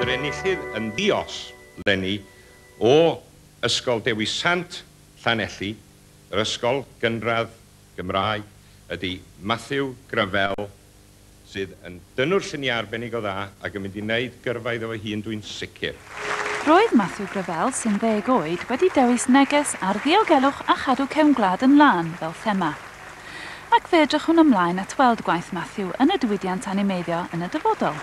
Ond yr enillydd yn ddi-os 'leni o Ysgol Dewi Sant Llanelli, yr ysgol gynradd Gymraeg, ydy Matthew Gravell, sydd yn dynnwr lluniau arbennig o dda ac yn mynd i wneud gyrfa iddo fo hun dwi'n sicr. Roedd Matthew Gravell, sy'n ddeg oed, wedi dewis neges ar ddiogelwch a chadw cefn gwlad yn lân fel thema. Ac fe edrychwn ymlaen at weld gwaith Matthew yn y diwydiant animeiddio yn y dyfodol.